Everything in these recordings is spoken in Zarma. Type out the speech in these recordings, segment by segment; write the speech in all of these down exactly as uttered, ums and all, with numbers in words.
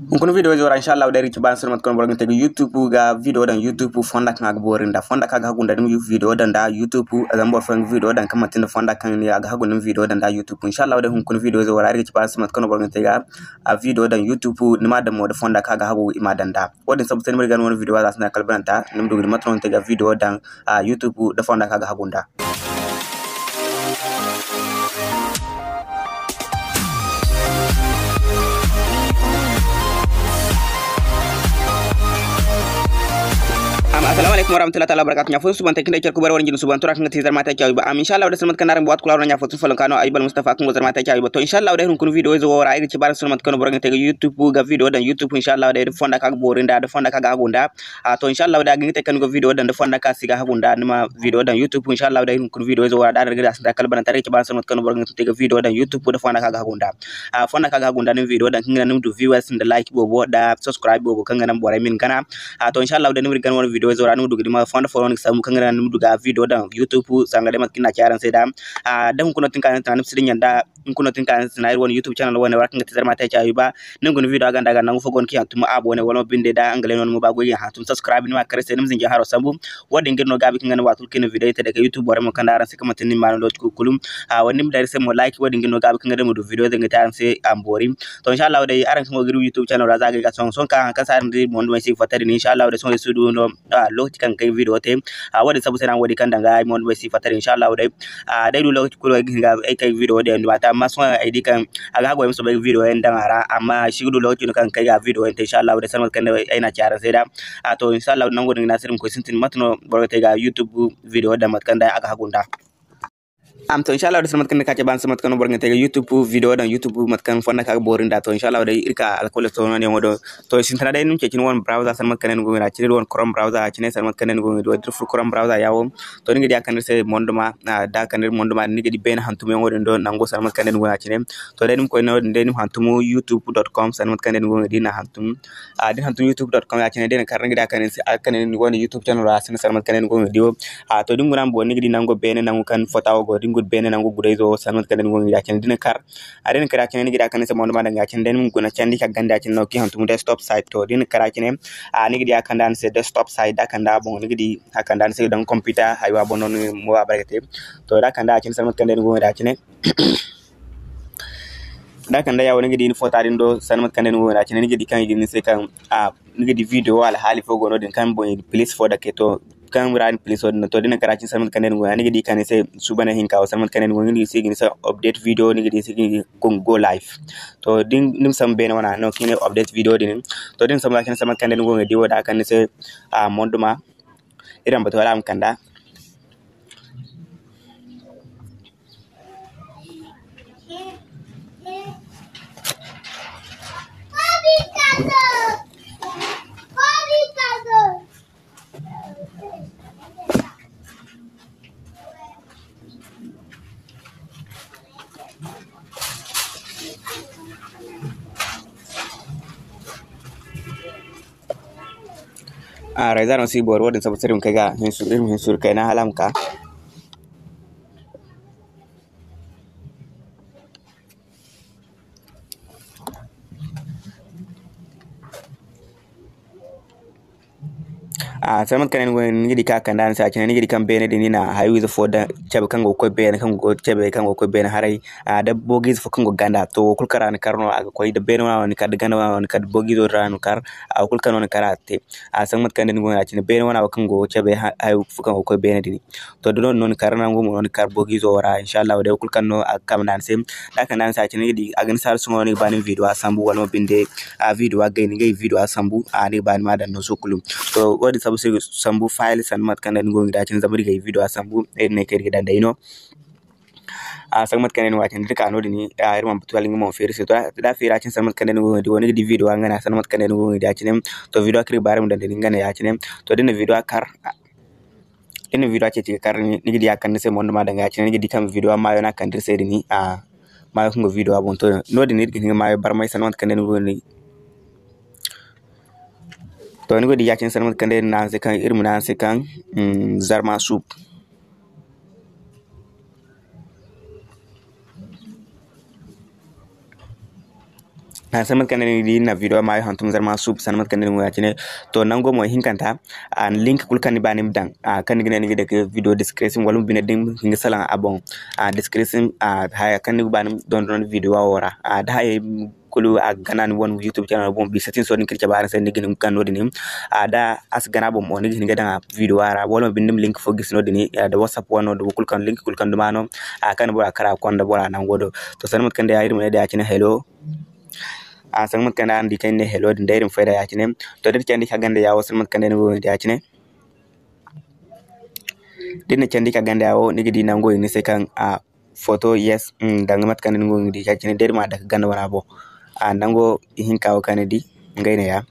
Hunkuna video izo ra, inshallah, day iri ga ci ba araŋ se no mate kaŋ boro ga te ga YouTube ga video daŋ YouTube fonda kaŋ a ga boori nda. Fonda kaŋ a ga hagu nda ni ma video daŋ nda YouTube, zama boro fooyaŋ ga video daŋ kaŋ manti nda fonda kaŋ a ga hagu ni ma video daŋ nda YouTube. Inshallah, day hunkuna video izo ra iri ga ci ba araŋ se mate kaŋ boro ga te ga a video daŋ YouTube, ni ma daŋ mo da fonda kaŋ a ga hagu i ma daŋ nda. Wo-din sabu se ni ma di ga ni wane video za sinda kala bananta, ni ma du ga di mate no ni te ga video daŋ, a, YouTube da fonda kaŋ a ga hagu nda. Am, assalamu alaikum warahmatullahi ta'ala wabarakatuh. Ɲa fo suban te kinde cerku bare wani jin suban tura kanga tizar mata kyawi ba. Am, inshallah, da salmat kana ran buat kula ran ɲa fo tun falon kano ay bal Mustafa kungo zar mata kyawi ba. To, inshallah, da hunkuna video izo wora ay ga ci ba araŋ se no mate kaŋ boro ga te ga YouTube ga video daŋ YouTube, inshallah, da fonda kaŋ a ga boori nda, da fonda kaŋ a ga hagu nda. A, to, inshallah, da ga ni te kaŋ ni go video daŋ da fonda kaŋ a si ga hagu nda, ni ma video daŋ YouTube, inshallah, da hunkuna video izo wora da ni ga da sinda kala bananta iri ga ci ba araŋ se no mate kaŋ boro ga te ga video daŋ YouTube da fonda kaŋ a ga hagu nda. A, fonda kaŋ a ga hagu nda ni ma video daŋ kaŋ ga naŋ ni ma du viewers nda like boobo da subscribe boobo kaŋ ga naŋ borey ma ni gana. A, to, inshallah, da ni ma di gana wane video izo ra ni ma du ga di ma fonda fo no ni ga sambu kaŋ ga naŋ ni ma du ga video daŋ YouTube sanga day mate kaŋ iri na ci araŋ se da. A, da hunkuna tin ka ni tana ni ma si dinya nda hunkuna tin ka ni tana iri wane YouTube channel wane wara kaŋ ga te zarma te caayi ba. Ni guna video a ganda ga nangu fo go no kaŋ yaŋ tuma abonné wala mo binde da ngale no ni ma ba goy yaŋ hantum subscribe ni ma kare se ni ma zinji haro sambu. Wo-din ga iri no gaabi kaŋ ga naŋ waati kulu kaŋ iri na video te daga YouTube borey mo kande araŋ se kaŋ manti ni ma no lokaci kulu kulu. A, wo-din day iri se mo like, wo-din ga iri no gaabi kaŋ ga naŋ iri ma du video daŋ ga te araŋ se a ma boori. To, inshallah, day araŋ kaŋ go ga iri YouTube channel ra za ga ay ga sohõ sohõ kaŋ haŋ kaŋ se araŋ di mo nda ay si ga fatta din, inshallah, day sohõ ay si du no, a, lokaci kaŋ ga kay video te. A, wo-din sabu se no araŋ wo-din kaŋ daŋ ga ay mo nda ay si ga fatta din, inshallah, day. A, day du lokaci kulu ay ga hin ga ay kay video din, amma sohõ ay di kaŋ a ga haggoy ma soobay ga video yaŋ daŋ a ra, amma ay si ga du lokaci no kaŋ ga kay ga video yaŋ te, inshallah, day, salamat kaŋ day ay na ci araŋ se da. A, to, inshallah, nango din ga ne a se iri ma koy sintin, mate no boro ga te ga YouTube video daŋ, mate kaŋ day a ga hagu nda. Am, to, inshallah, day, salamat kaŋ day ka ci ba araŋ se mate kaŋ no boro ga te ga YouTube video daŋ, YouTube mate kaŋ fonda kaŋ a ga boori nda. To, inshallah, day, iri ka alkawlo to no ne wo do. To, sintina day, ni ma ceeci ni wane browser, salamat kaŋ day ni go ga da cine, ni wane Chrome browser, a cine, salamat kaŋ day ni go ga da, da iri furo Chrome browser ya wo. To, ni ga di a kande iri se monduma, a, da a kande iri monduma, ni ga di beene hantumyaŋo din do, nango sanda mate kaŋ day ni go no ya cine. To, day ni ma koy no-din day ni ma hantum youtube dot com sanda mate kaŋ day ni go no ya, da ni na hantum, a, da ni hantum youtube dot com ya cine, day ni kar ni ga di a kande iri se, a kande iri se ni wane YouTube channel ra sanda mate kaŋ day ni go no ya di wo. A, to, da ni guna mo ni ga di nango beene, nango kaŋ foto wo go, da ni guna beene nango gurayzo sanda mate kaŋ day ni go no ya cine, da ni kar, A, da ni kar ya cine, ni ga di a kande iri se monduma daŋ ya cine, day ni ma guna candi ka ganda ya cine no kaŋ hantum desktop site. To, da ni kar ya cine, a, ni ga di a kande ni se desktop site, da a kande a boŋ, ni ga di a kande ni se daŋ computer haywa boŋ no ni mo a bare ga te. To, da a kande ya cine, sanda mate kaŋ day ni go ga di ya cine. Da a kande ya wo, ni ga di ni foto din do, sanda mate kaŋ day ni go ga di ya cine, ni ga di kaŋ i ga ni se kaŋ, a, ni ga di video alhaali fo go no-din kaŋ boŋ i ga plus fo dake. To, kaŋ ra ni plus wo din no, to, da ni kar ya cine sanda mate kaŋ day ni go ya, ni ga di kaŋ ni se suubanay hinka wo sanda mate kaŋ day ni go, ni ga di se i ga ni se update video, ni ga di se i ga ni go live. To, da ni, ni ma sambu beene wana no kaŋ i ne update video din. To, da ni sambu ya cine sanda mate kaŋ day ni go ga di wo da a kande ni se, a, monduma. Iri ma batu wala a ma kanda. A, réseau no si boori, wo-din sabu se iri ma kay ga hin suuru, iri ma hin suuru kayna hala a ma ka. A, sanda mate kaŋ day ni go, ni ga di kaŋ a kande ni se ya cine, ni ga di kaŋ beene din ni na hayo ize fo daŋ cabe kaŋ go ga koy beene, kaŋ go ga cabe, kaŋ go ga koy beene haray. A, da boogiize fo kaŋ go ga ganda, to, wo kulu kaŋ ra ni kar no a ga koy, da beene wana no ni kar, da ganda wana no ni kar, da boogiizo ra no ni kar, a, wo kulu kaŋ no ni kar a ga te. A, sanda mate kaŋ day ni go ya cine, beene wana wo kaŋ go ga cabe ha-, hayo fo kaŋ go ga koy beene din. To, da no-din no ni kar, nangu mo no ni kar boogiizo wo ra, inshallahu day, wo kulu kaŋ no a ga kande ni se. Da a kande ni se ya cine, ni ga di a ga ni se hala sohõ ni ga ba ni ma video sambu, wala mo binde, a, video gay, ni ga video sambu, a, ni ga ba ni ma daŋ no sohõ kulu. To, wo-din sabu se sambu file sanda mate kaŋ day ni go ga di ya cine, zama iri ga video sambu, iri ne kaŋ iri ga daŋ day no. A, sanda mate kaŋ day ni go ya cine, da iri ka no-din, a, iri mana batu hala nga mo feeri se. To, da a feeri ya cine sanda mate kaŋ day ni go ga di wo, ni ga di video nga ne sanda mate kaŋ day ni go ga di ya cine. To, video kaŋ iri ga ba iri ma daŋ day nga ne ya cine. To, da ni na video kar, Da ni na video ceeci ga kar, ni ga di a kande ni se monduma daŋ ga ya cine, ni ga di kaŋ video maayo no a kande iri se din, a, maayo kaŋ go video boŋ. To, no-din iri ga hin ga maayo barmay sanda mate kaŋ day ni go ga di. To, ni go ga di ya cine sanda mate kaŋ day iri ne araŋ se kaŋ, iri ma ne araŋ se kaŋ, mm, Zarma Soup. Sanda mate kaŋ day ni ga di, ni na video maayo hantum zarma suubu, sanda mate kaŋ day ni go ya-cine. To, nango mo ihinkanta, a link kulu kaŋ ni ba ni ma daŋ, a kaŋ ni ga ne ni ga dake video description, wala mo bine da ni hin ga salaŋ a boŋ, a description, a haya kaŋ ni ga ba ni ma dondon video wo ra. A da hayey kulu a ga gana ni wane YouTube channel boŋ, bisa tin so din kaŋ iri cabe araŋ se, ni ga hin ga gana no-din. A da a si gana boŋ mo, ni ga hin ga daŋ a video ra, wala mo binde ni ma link fo gisi no-din, a da WhatsApp wano, da wo kulu kaŋ link kulu kaŋ duma no, a kaŋ bora kara konda bora nango do. To, sanda mate kaŋ day iri ma ne day ya-cine hello. A sanda mate kaŋ day araŋ di kaŋ iri ne hello din day iri ma fayda ya-cine. To, da iri candi ka ganda yawo, sanda mate kaŋ day ni go ga di ya-cine. Da ni na candi ka ganda yawo, ni ga di nango i ne ni se kaŋ a photo, yes, mm, danga mate kaŋ ni go ga di ya-cine, day iri ma dake ganda wana boŋ. A nango ihinka wo kaŋ ni di, ngey neeya.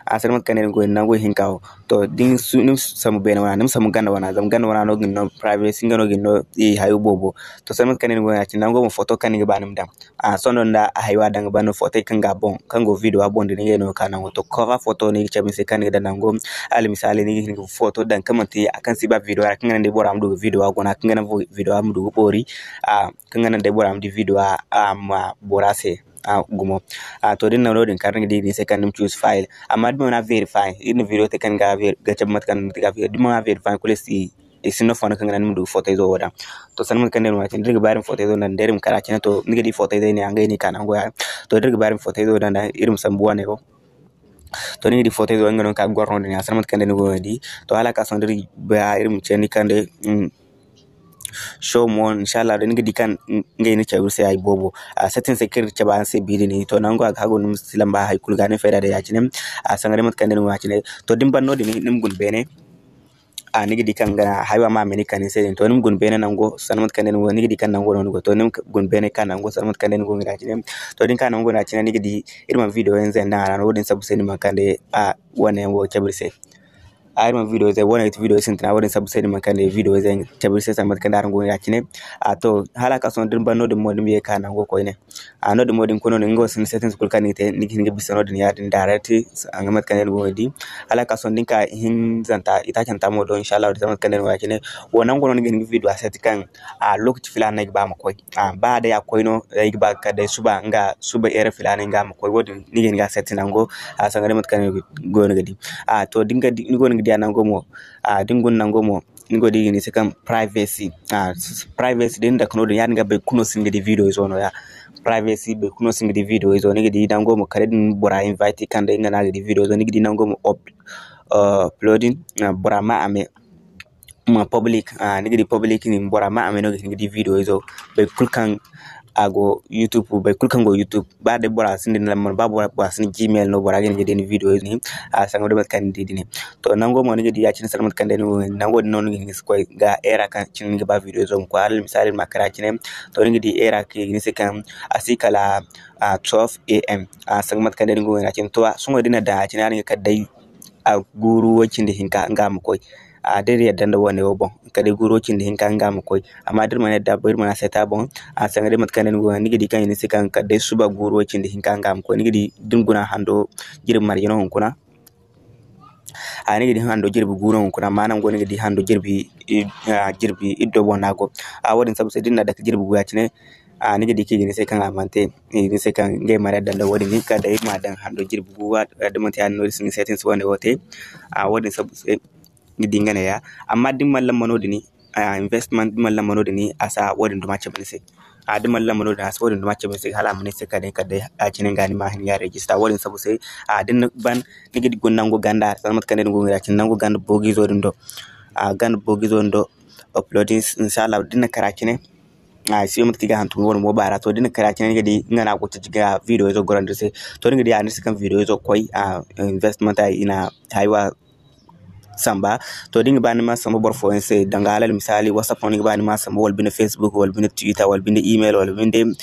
A sanda mate kaŋ day ni go nango ihinka wo. To, da ni su-, ni ma sambu beene wana, ni ma sambu ganda wana, zama ganda wana no ga ni no privacy, nga no ga ni no i hayo boobo. To, sanda mate kaŋ day ni go ya-cine, nango mo photo kaŋ ni ga ba ni ma daŋ. A sohõ nda a haywa daŋ ga ban no photo kaŋ ga boŋ, kaŋ go video a boŋ din, ngey no ga ka nango. To, cover photo no i ga cabe ni se kaŋ ni ga daŋ nango. Almisaali, ni ga hin ga photo daŋ kaŋ manti a kaŋ si ba video ra, kaŋ ga naŋ day bora ma du ga video a guna, kaŋ ga naŋ video a ma du ga boori, a, kaŋ ga naŋ day bora ma di video a, a ma bora se, a, gumo. A, to, da ni na no-din kar, ni ga di i ga ni se kaŋ ni ma choose file. Amma da ni mana verify, iri na video te kaŋ ga ver-, ga cabe mate kaŋ ni ga verify, da ni mana verify kulu si i sinda fondo kaŋ ga naŋ ni ma du ga foto izo wo daŋ. To, sanda mate kaŋ day no ya-cine, da iri ga ba iri ma foto izo daŋ, da iri ma kar ya-cine, to, ni ga di foto izey ne, ngey no i ka nango ya. To, da iri ga ba iri ma foto izo daŋ, iri ma sambu wane wo. To, ni ga di foto izo nga no ka goro no-din ya, sanda mate kaŋ day ni go ga di. To, hala ka sohõ da iri ba iri ma candi kaŋ day, mm, show more, inshallah, da ni ga di kaŋ, mm, ngey ni cabe iri se hari boobo. A setting se kaŋ iri cabe araŋ se bi din. To, nango a ga hagu ni ma si lamba hari kulu ga ni fayda day ya-cine. A sanda day mate kaŋ day ni go ya-cine. To, da ni ban no-din, ni ma guna beene. A, ni ga di kaŋ ga haywa ma a ma ni kani se din. To, ni ma guna beene nango, sanda mate kaŋ day ni go, ni ga di kaŋ nango no ni go. To, ni ma guna beene ka nango, sanda mate kaŋ day ni go ga di ya-cine. To, da ni ka nango no ya-cine, ni ga di iri mana video yaŋ zay daŋ a ra no, wo-din sabu se ni mana kande, a, wane yaŋ wo cabe iri se. A, iri mana video zay, wane video sintina, wo-din sabu se ni mana kande video zay cabe iri se, sanda mate kaŋ day araŋ go ga di ya-cine. A, to, hala ka sohõ da ni ban no-din mo, ni ma ye ka nango koyne. A, no-din mo da ni koy no-din, nga wo sinda settings kulu kaŋ ni ga te, ni ga hin ga bisa no-din ya-din direct, a ga mate kaŋ day ni go ga di. Hala ka sohõ da ni ka ihinzanta, itaacanta mo do, inshallah, da mate kaŋ day ni go ya-cine. Wo nango no ni ga hin ga video a set kaŋ, a, lokaci filaana no ay ga ba a ma koy. A, ba day a koy no, ay ga ba kala day suba, nga suba heure filaana nga a ma koy. Wo-din ni ga hin ga a set nango, a, sanda day mate kaŋ ni go no ga di. A, to, da ni ga di, ni go no ga di a nango mo, a, da ni guna nango mo, ni go di i ga ne ni se kaŋ privacy. A, s-, s-, privacy da ni dake no-din, ya-din ga boro kulu no si hin ga di video izo no-ya. Privacy boro kulu no si hin ga di video izo. Ni ga di nango mo kala da ni bora invite kaŋ day nga no a ga di video izo. Ni ga di nango mo up-, uh, uploading, uh, bora ma a me. Ma public, uh, ni ga di public din bora ma a me no ga hin ga di video izo. Boro kulu kaŋ a go YouTube, boro kulu kaŋ go YouTube, ba day bora sinda ni lambar, ba bora, bora sinda Gmail no, bora ga hin ga di ni video izo din, a, sanda day mate kaŋ ni di din. To, nango mo ni ga di ya-cine sanda mate kaŋ day ni go, nango din no ni ga hin ga si koy ga heure kaŋ cine ni ga ba video izo ma koy. Hala almisaali, ma kar ya-cine, to, ni ga di heure kaŋ i ga ne ni se kaŋ a si kala, a, twelve A M. A, sanda mate kaŋ day ni go ya-cine. To, a, sohõ da ni na daŋ ya-cine, a, ni ga kala day a guuru way cindi hinka nga ma koy. A, da iri yadda nda wane wo boŋ, kala day guuru way cindi hinka nga ma koy. Amma da iri mana yadda, iri mana set a boŋ, a, sanda day mate kaŋ day ni go, ni ga di kaŋ i ne ni se kaŋ kala day suba guuru way cindi hinka nga ma koy. Ni ga di da ni guna hando jirbi marje no hunkuna. A, ni ga di hando jirbi gu no hunkuna, amma nango ni ga di hando jirbi, i, a, jirbi iddo boŋ no a go. A, wo-din sabu se da ni na dake jirbi gu ya-cine, a, ni ga di kaŋ i ga ni se kaŋ a mana te, i ga ni se kaŋ ngey mana yadda nda wo-din, ni ga ka day iri ma daŋ hando jirbi gu, a, da manti ya-din no iri si ni settings wane wo te. A, wo-din sabu se ni ga di nga neeya. Amma da ni mana lamba no-din, a, investment, da ni mana lamba no-din, a si wo-din duma cabe ni se. A, da ni mana lamba no-din, a si wo-din duma cabe ni se, hala a ma ne ni se kala day, kala day, a cine nga ni ma hin ga register. Wo-din sabu se, a, da ni ban, ni ga di guna nango ganda, sanda mate kaŋ day ni go ga di ya-cine, nango ganda boogizo din do. A, ganda boogizo din do, uploading, inshallah, da ni na kar ya-cine, a, si mate kaŋ i ga hantum wane mo baara. To, da ni na kar ya-cine, ni ga di nga no a go ga video izo gorandi ni se. To, ni ga di a ne ni se kaŋ video izo koy, a, investment, a, i na haywa samba. To, da ni ga ba ni ma samba boro fooyaŋ se, danga alal misaali, WhatsApp no ni ga ba ni ma samba, wala binde Facebook, wala binde Twitter, wala binde email, wala binde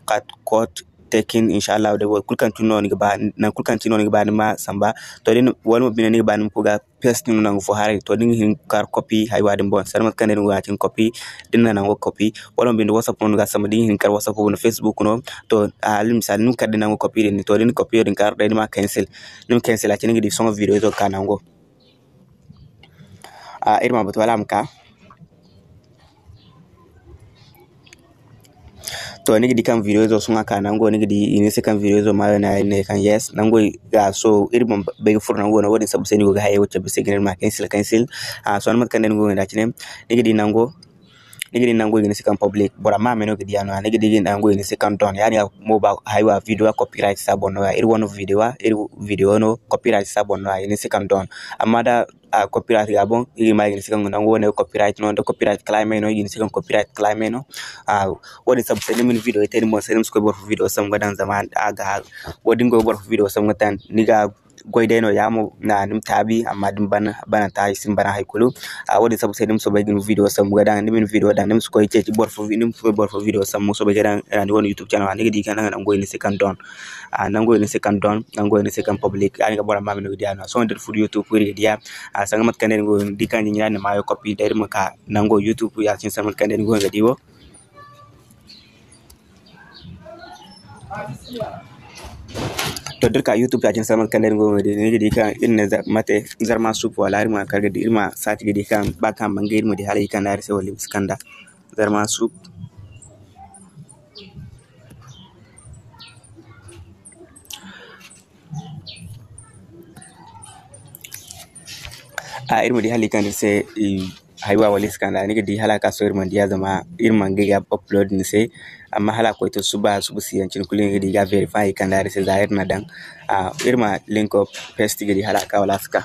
kat-, kot tekin, inshallah, day wo kulu kaŋ cine no ni ga ba, nangu kulu kaŋ cine no ni ga ba ni ma samba. To, da ni, wala mo binde ni ga ba ni ma koy ga paste no nangu fo haray. To, da ni ga hin ga kar copy haywa din boŋ, sanda mate kaŋ day ni go ya-cine copy, da ni na nango copy, wala mo binde WhatsApp no ni ga samba, da ni ga hin ga kar WhatsApp no, Facebook no. To, alal misaali, ni ma kar da ni nango copy din, to, da ni copy din kar day ni ma cancel. Ni ma cancel ya-cine ni ga di sohõ video izo ga ka nango. A, iri ma batu wala a ma ka. To, ni ga di kaŋ video izo sohõ a ka nango, ni ga di i ne se kaŋ video izo maayo no ya, iri ne kaŋ yes, nango ga so, iri mana bay ga furo nango no, wo-din sabbu se ni go ga hayey wo cabe se ga ne iri ma cancel, cancel. Ah, sohõ mate kaŋ day ni go ga ne da cine, ni ga di nango, ni ga di nango i ga ne se kaŋ public, bora ma me no ga di a no ya, ni ga di nango i ga ne se kaŋ done, ya-din ga mo ba hayey wo video copyright si a boŋ no ya, iri wane video, iri video no copyright si a boŋ no ya, i ga ne se kaŋ done. Amma da a copyright ga boŋ, iri ma i ga ne se kaŋ nango wane copyright no, da copyright claim no, i ga ne se kaŋ copyright claim no. Ah, wo-din sabbu se ni ma ni video te ni boŋ se, ni ma si koy boro fo video sambu ga daŋ zama a ga, wo-din go boro fo video sambu ga daŋ, ni ga goy day no ya mo, ni ma taabi, amma da ni ban, bananta i si ni bana hay kulu. Ah, wo-din sabbu se ni ma soobay ga ni video sambu ga daŋ, ni ma ni video daŋ, ni ma si koy ceeci boro fo, ni ma si koy boro fo video sambu soobay ga daŋ, ni wane YouTube channel ra, ni ga di kaŋ nango i ne se kaŋ done. Ah, nango i ne se kaŋ done, nango i ne se kaŋ public, ya-din ga bora ma me no ga di a no. Sohõ da iri furo YouTube iri ga di a, ah, sanga mate kaŋ day ni go ga di kaŋ jinjina ni maayo copy da iri ma ka nango YouTube ya cine sanga mate kaŋ day ni go ga di wo. To, da iri ka YouTube ya cine sanga mate kaŋ day ni go ga di, ni ga di kaŋ iri ne za-, mate, Zarma Soup wala iri ma kar ga di, iri ma saaci ga di kaŋ ba kaŋ a mana ga iri ma di hala i kande iri se wala i ma si kande. Zarma Soup. A, iri ma di hala i kande iri se, i, haywa wala i si kande, ni ga di hala a ka sohõ iri mana di a zama iri mana ga upload ni se. Amma hala a koy to suba, suba si yaŋ cine kulu ni ga di i ga verify i kande iri se za iri na daŋ. A, iri ma link up paste ga di hala a ka wala a si ka.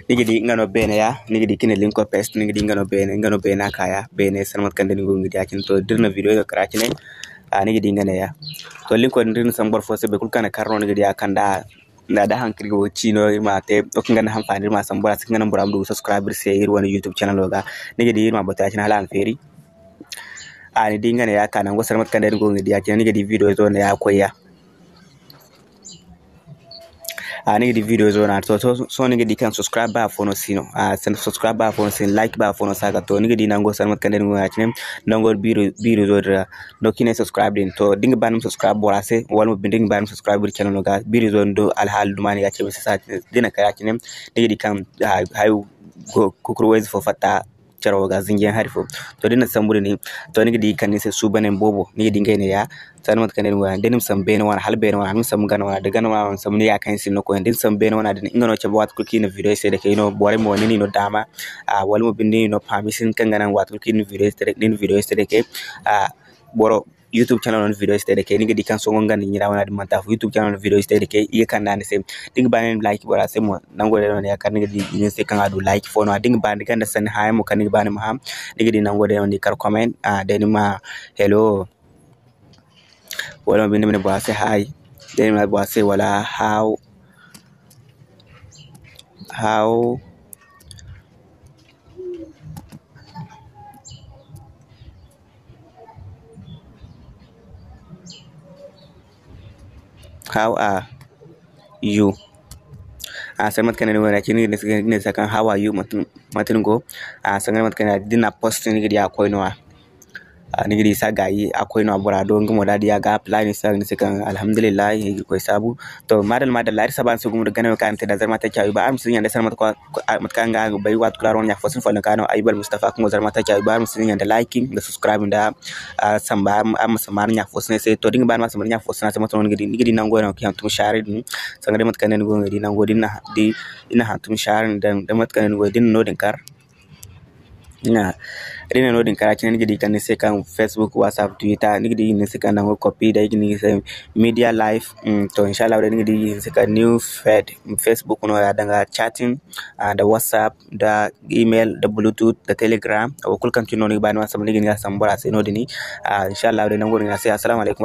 Ni ga di nga no beene ya, ni ga di kine link up paste, ni ga di nga no beene, nga no beene a ka ya, beene sanda mate kaŋ day ni go ga di a cine. To, da iri na video ga kar a cine, a, ni ga di nga ne ya. To, link wo din da iri na sambu boro fo se, boro kulu kaŋ na kar no ni ga di a kande a, da, da haŋ kaŋ iri go ga ci no, iri ma te, wo kaŋ ga naŋ hanfaani, iri ma sambu bora se, kaŋ ga naŋ bora ma du ga subscribe iri se, iri wane YouTube channel wo ga. Ni ga di iri ma batu ya cine hala a ma feeri. A, ni di nga ne ya ka nango sanda mate kaŋ day ni go ga di a cine, ni ga di video izo ne ya koy ya. A, ni ga di video izo no a to, to, sohõ ni ga di kaŋ subscribe ba afo no si no. A, sanda subscribe ba afo no si no, like ba afo no si a ga to. Ni ga di nango sanda mate kaŋ day ni go ga cine, nango biro, biro izo din ra. No kaŋ i ne subscribe din. To, da ni ga ba ni ma subscribe bora se, wala mo binde da ni ga ba ni ma subscribe iri channel no ga, biro izo din do alhaali duma ni ga cabe se sa, da ni na kay a cine, ni ga di kaŋ, a, hayo go, kukuru wayze fo fatta caro ga zinjiyaŋ hari fo. To, da ni na sambu din, to, ni ga di kaŋ ni se suubanen boobo, ni ga di ngey ne ya, sanda mate kaŋ day ni go ya, da ni ma sambu beene wane, hala beene wane, ni ma sambu gana wane, da gana wane sambu ni ya kaŋ ni sinda koyne, da ni sambu beene wane din, nga no cabe waati kulu kaŋ i na video se dake no, borey mo ni no daama, a, wala mo binde ni no permission kaŋ ga naŋ waati kulu kaŋ ni na video se dake, ni na video se dake, a, boro YouTube channel no video si te dake, ni ga di kaŋ sohõ nga nda ɲira wane din manti afo. YouTube channel no video si te dake, i ga kande a ni se. Da ni ga ba ni ma like bora se mo, nango day no ne ya kaŋ ni ga di ni se kaŋ a du like fo no. Da ni ga ba ni ganda sanni haayaŋ mo kaŋ ni ga ba ni ma hã, ni ga di nango day no ni kar comment, a, day ni ma hello. Wala mo binde ma ne bora se hi. Day ni ma ne bora se wala how, how How are you? A, sanda mate kaŋ ni go ya cine, ni ga ne se kaŋ how are you, mate, mate ni go. A, sanda mate kaŋ ni di na post, ni ga di a koy no ya. A, ni ga di sa gaayi a koy no ya bora do, nga mo da di a ga apply ni se, ni se kaŋ alhamdulillahi, Irkoy saabu. To, madalla, madalla, iri saba ni se gumo da gana kaŋ ni te da Zarma Tech Ayuba, araŋ ma si ɲaŋ day sanda mate kaŋ, mate kaŋ araŋ ga bay, waati kulu araŋ wane ɲa fo si ni follow kaŋ no Ayuba Almustafa kaŋ go Zarma Tech Ayuba, araŋ ma si ɲaŋ da liking, da subscribe, da, a, samba, araŋ ma, araŋ ma si ma araŋ ɲa fo si ne se. To, da ni ga ba ni ma samba ni ɲa fo si ne se, mate no ni ga di, ni ga di nango no kaŋ hantum share din, sanda day mate kaŋ ni go ga di nango din na, di, ni na hantum share din, da mate kaŋ ni go ga di no din kar. Ina, da ni na no din kar a cine, ni ga di kaŋ ni se kaŋ Facebook, WhatsApp, Twitter, ni ga di ni se kaŋ nango copy day, ni se media live, mm, to, inshallah, day ni ga di ni se kaŋ new feed, Facebook no ya danga chatting, a, da WhatsApp, da email, da Bluetooth, da Telegram, wo kulu kaŋ cine no ni ga ba ni ma samba, ni ga ni ga samba bora se no din, a, inshallah, day nango din a se, assalamu alaikum.